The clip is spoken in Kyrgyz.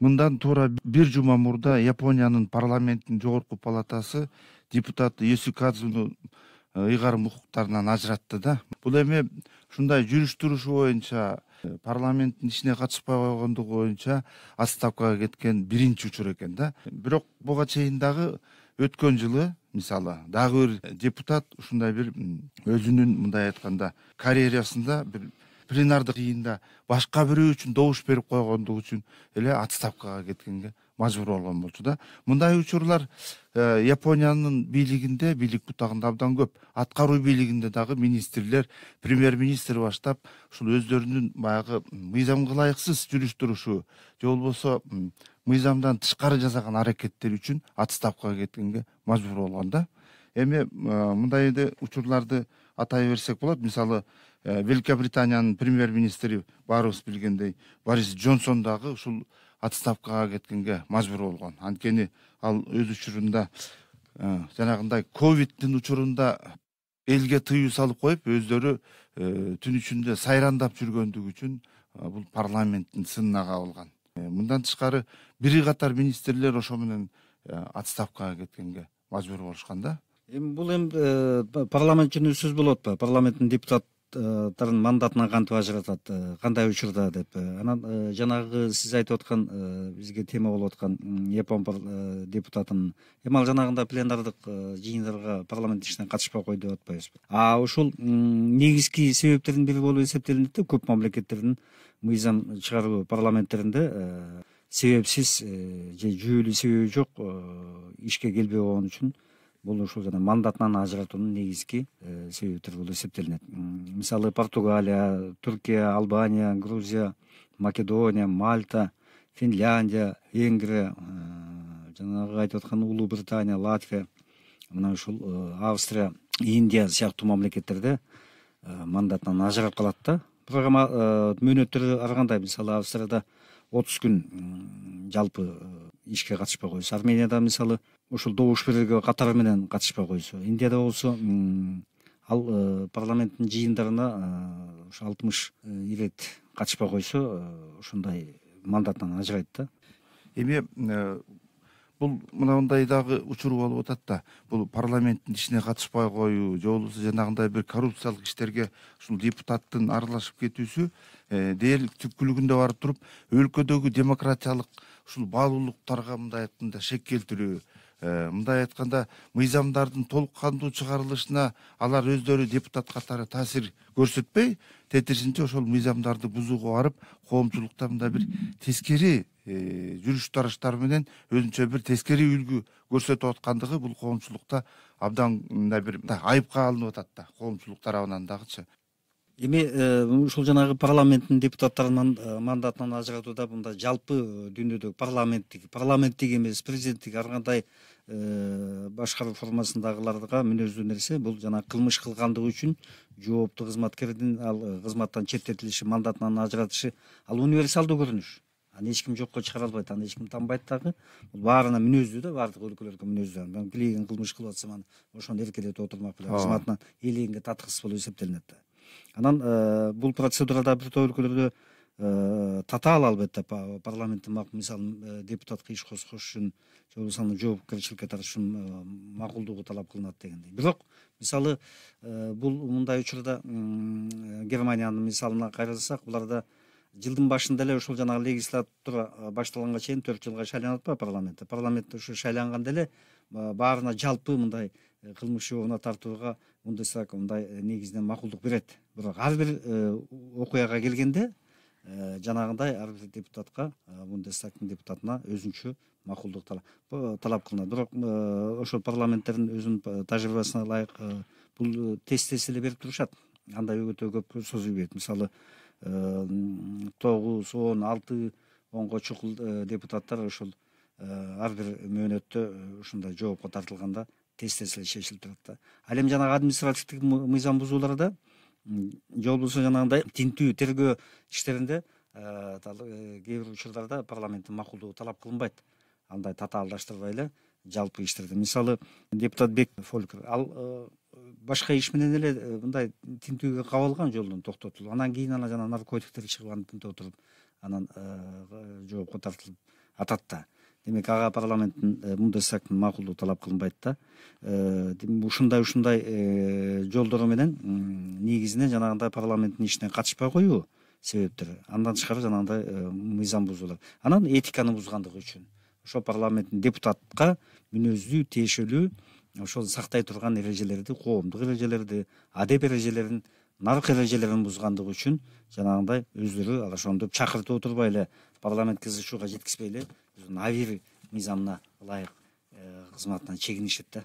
Мындан туура бир жума мурда Япониянын парламенттин жогорку палатасы депутат Есукадзуну ыйгарым укуктарынан ажыратты да. Бул эми ушундай жүрүш-турушу боюнча парламенттин ишине катышпай койгондугу боюнча отставкага кеткен биринчи учур экен да. Бирок буга чейин дагы өткөн жылы мисалы дагы бир депутат ушундай бир өзүнүн мындай айтканда карьерасында бир пленардык жыйында башка бирөө үчүн добуш берип койгондугу үчүн эле отставкага кеткенге мажбур болгон болчу да. Мындай учурлар Япониянын бийлигинде, бийлик бутагында абдан көп. Аткаруу бийлигинде дагы министрлер, премьер-министр баштап ушул өздөрүнүн баягы мыйзамга ылайыксыз жүрүш-турушу же болбосо мыйзамдан тышкары жасаган аракеттери үчүн отставкага кеткенге мажбур болгон да. Эми мындай эле учурларды атай берсек болот. Мисалы Великобританиянын премьер-министри баарыбыз билгендей Борис Джонсон дагы ушул отставкага кеткенге мажбур болгон. Анткени ал өз учурунда жанагындай ковидтин учурунда элге тыюу салып коюп, өздөрү түн ичинде сайрандап жүргөндүгү үчүн бул парламенттин сынына кабылган. Мындан тышкары бир катар министрлер ошо менен отставкага кеткенге мажбур болушкан да. Эми бул парламент үчүн сөз болот атпайбы? Парламенттин депутаттарын мандатынан кантип ажыратат, кандай учурда деп. Анан жанагы сиз айтып аткан бизге тема болуп аткан Япон депутатын эми ал жанагындай пленардык жыйындарга парламент ишине катышпай койду деп атпайбызбы? Ушул негизги себептердин бири болуп эсептелинет да. Көп мамлекеттердин мыйзам чыгаруу парламенттеринде себепсиз же жүйөлүү себеби жок ишке келбей койгон үчүн бул ушул жана мандатынан ажыратуунун негизги себептери болуп эсептелинет. Мисалы Португалия, Түркия, Албания, Грузия, Македония, Мальта, Финляндия, Венгрия, жанагы айтып аткан Улуу Британия, Латвия, мына ушул Австрия, Индия сыяктуу мамлекеттерде мандатынан ажырап калат да. Программа мөөнөттөрү ар кандай. Мисалы Австрияда 30 күн жалпы ишке катышпай койсо, Арменияда мисалы ушул добуш берүүгө катары менен катышпай койсо, Индияда болсо ал парламенттин жыйындарына ушу 60 ирет катышпай койсо, ушундай мандатынан ажырайт да. Эми бул мындай дагы учур болуп атат да. Бул парламенттин ишине катышпай коюу же болбосо жанагындай бир коррупциялык иштерге ушул депутаттын аралашып кетүүсү дээрлик түпкүлүгүндө барып туруп өлкөдөгү демократиялык ушул баалуулуктарга мындай айтканда шек келтирүү, мындай айтканда мыйзамдардын толук кандуу чыгарылышына алар өздөрү депутат катары таасир көрсөтпөй, тетирисинче ошол мыйзамдарды бузууга барып, коомчулукта мындай бир тескери жүрүш тарыштар менен өзүнчө бир тескери үлгү көрсөтүп аткандыгы бул коомчулукта абдан мындай бир айыпка алынып атат да, коомчулук тарабынан дагычы. Эми ушул жанагы парламенттин депутаттарынын мандатынан ажыратууда мындай жалпы дүйнөдөгү парламенттик эмес, президенттик ар кандай башкаруу формасындагыларга мүнөздүү нерсе бул жана кылмыш кылгандыгы үчүн жооптуу кызматкердин ал кызматтан четтетилиши, мандатынан ажыратышы ал универсалдуу көрүнүш. Аны эч ким жокко чыгара албайт, аны эч ким танбайт дагы. Бул баарына мүнөздүү да, баардык өлкөлөргө мүнөздүү. Мен билеген кылмыш кылып атсам аны ошону эркелетип отурмак беле, кызматынан ээлегенге таткысыз болуп эсептелинет да. Анан бул процедурада бир топ өлкөлөрдө татаал албетте парламенттин мисалы депутатка иш козгош үчүн же болбосо аны жоопкерчиликке тартыш үчүн макулдугу талап кылынат дегендей. Бирок мисалы бул мындай учурда Германиянын мисалына кайрылсак, буларда жылдын башында эле ушул жанагы легислатура башталганга чейин 4 жылга шайланат парламентте. Парламентте ушу шайланганда эле баарына жалпы мындай кылмыш жообуна тартууга Бундестаг мындай негизинен макулдук берет. Бирок ар бир окуяга келгенде жанагындай ар бир депутатка, Бундестагдын депутатына өзүнчө макулдук талап кылынат. Бирок ошол парламенттердин өзүнүн тажрыйбасына ылайык бул тез эле берип турушат. Андай өтө көп созуу берет. Мисалы 9, 10, 6, 10го чукул депутаттар ошол ар бир мөөнөттө ушундай жоопко тартылганда тез эле чечилип турат да. Ал эми жанагы административдик мыйзам бузууларда же болбосо жанагындай тинтүү тергөө иштеринде кээ бир учурларда парламенттин макулдугу талап кылынбайт. Андай татаалдаштырбай эле жалпы иштерде. Мисалы депутат Бек Фолькер ал башка иш менен эле мындай тинтүүгө кабылган, жолдон токтотулуп, анан кийин жана наркотиктер чыгып аны тинтеп отуруп, анан жоопко тартылып атат да. Демек ага парламенттин Бундестагдын макулдугу талап кылынбайт да. Ушундай жолдору менен негизинен жанагындай парламенттин ишине катышпай коюу себептери. Андан тышкары жанагындай мыйзам бузуулар. Анан этиканы бузгандыгы үчүн ошо парламенттин депутатка мүнөздүү, тиешелүү ошол сактай турган эрежелерди, коомдук эрежелерди, адеп эрежелерин, нарк эрежелерин бузгандыгы үчүн жанагындай өздөрү ал ошондо чакыртып отурбай эле парламент кызышууга жеткизбей эле авир мыйзамына ылайык кызматынан чегинишет да.